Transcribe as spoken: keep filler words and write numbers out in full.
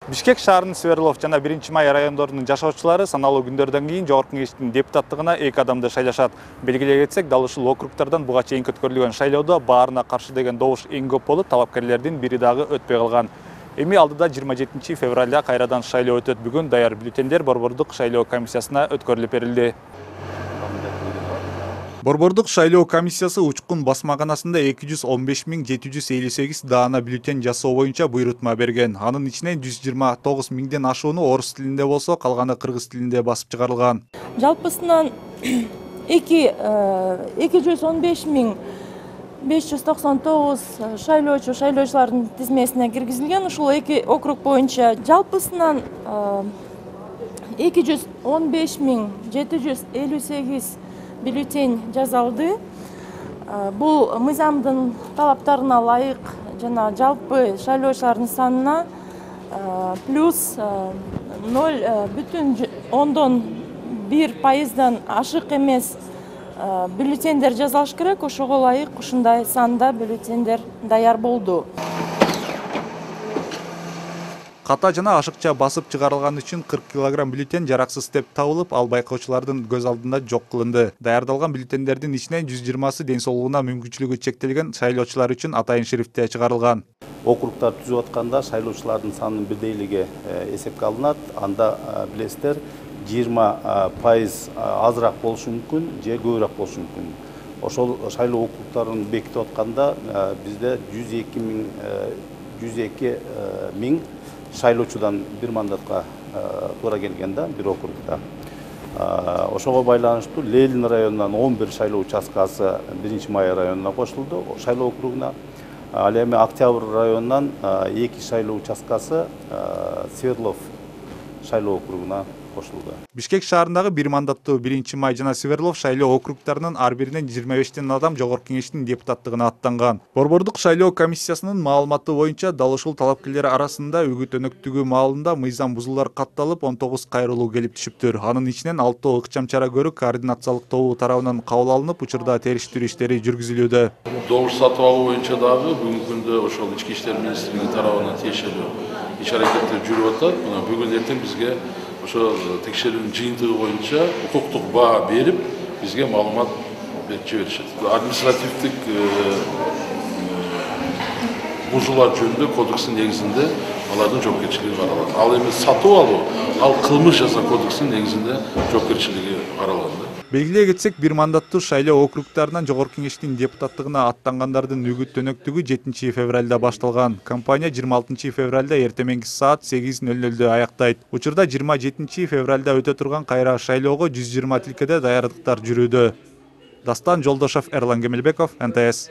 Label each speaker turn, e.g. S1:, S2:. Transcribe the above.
S1: Бишкек шаарынын Сверлов жана биринчи май райондорунун жашоочулары саналуу күндөрдөн кийин Жогорку Кеңештин депутаттыгына эки адамды шайлашат. Белгилей кетсек, дал ушул округтардан буга чейин өткөрүлгөн шайлоодо баарына каршы деген добуш эң көп болуп, талапкерлердин бири дагы өтпөй калган. Эми алдыда жыйырма жетинчи февралда кайрадан шайлоо өтөт. Бүгүн даяр бюллетендер Борбордук шайлоо комиссиясына өткөрүлүп берилди. Борбордук шайлоо комиссиясы Учкун басмаканасында эки жүз он беш миң жети жүз элүү сегиз даана бюллетен жасоо боюнча буйрутма берген. Анын ичинен жүз жыйырма тогуз миңден ашууну орус тилинде болсо, калганы кыргыз тилинде басып чыгарылган.
S2: Жалпысынан эки жүз он беш миң беш жүз токсон тогуз шайлоочу шайлоочулардын тизмесине киргизилген. Ушул эки округ боюнча жалпысынан эки жүз он беш миң жети жүз элүү сегиз бюллетень жазалды. Бул мыйзамдын талаптарына ылайык жана жалпы шайлоочулардын санына плюс ноль бүтүн ондон бир пайыздан ашык эмес бюллетендер жазалыш керек. Ошого ылайык ушундай санда бюллетендер даяр болду.
S1: Ката жана ашыкча басып чыгарылган үчүн кырк килограмм бюллетен жараксыз деп табылып, ал байкоочулардын көз алдында жок кылынды. Даярдалган бюллетендердин ичинен жүз жыйырмасы ден соолугуна мүмкүнчүлүгү чектелген шайлоочулар үчүн атайын шрифтте чыгарылган.
S3: Округтар түзүп атканда шайлоочулардын санынын бирдейлиги эсепке алынат. Анда билесиздер, жыйырма пайыз азыраак болушу мүмкүн же көбүрөөк болушу мүмкүн. Ошол шайлоо округтарын бекитип атканда бизде жүз эки миң жүз эки миң шайлоочудан бир мандатка туура келген да, бир округда. Ошого байланыштуу Ленин районунан он бир шайлоо участкасы биринчи май районуна кошулду, шайлоо округуна. Ал эми Октябрь районунан эки шайлоо участкасы Сверлов шайлоо округуна кошулду.
S1: Бишкек шаарындагы бир мандаттуу биринчи май жана Сверлов шайлоо округтарынын ар биринен жыйырма бештен адам Жогорку Кеңештин депутаттыгына аттанган. Борбордук шайлоо комиссиясынын маалыматы боюнча, дал ушул талапкерлер арасында үгүт өнөктүгү маалында мыйзам бузуулар катталып, он тогуз кайрылуу келип түшүптүр. Анын ичинен алтоо ыкчам чара көрүү координациялык тобу тарабынан кабыл алынып, учурда териштирүү иштери жүргүзүлүүдө.
S4: Добуш сатып алуу боюнча дагы бүгүнкү күндө ошол ички иштер министрлиги тарабынан тиешелүү иш-аракеттер жүрүп атат. Мына бүгүн эртең бизге ошо текшерүүнүн жыйынтыгы боюнча укуктук баа берип, бизге маалымат берип жиберишет. Административдик бузуулар жөнүндө кодекстин негизинде алардын жоопкерчилиги каралат. Ал эми сатып алуу, ал кылмыш жаза кодексинин негизинде жоопкерчилиги каралат.
S1: Белгилей кетсек, бир мандаттуу шайлоо округтарынан Жогорку Кеңештин депутаттыгына аттангандардын үгүт өнөктүгү жетинчи февралда башталган. Компания жыйырма алтынчы февралда эртеменки саат сегиз ноль нольдө аяктайт. Учурда жыйырма жетинчи февралда өтө турган кайра шайлоого жүз жыйырма тилкеде даярдыктар жүрүүдө. Дастан Жолдошов, Эрлан Кемелбеков, эн тэ эс.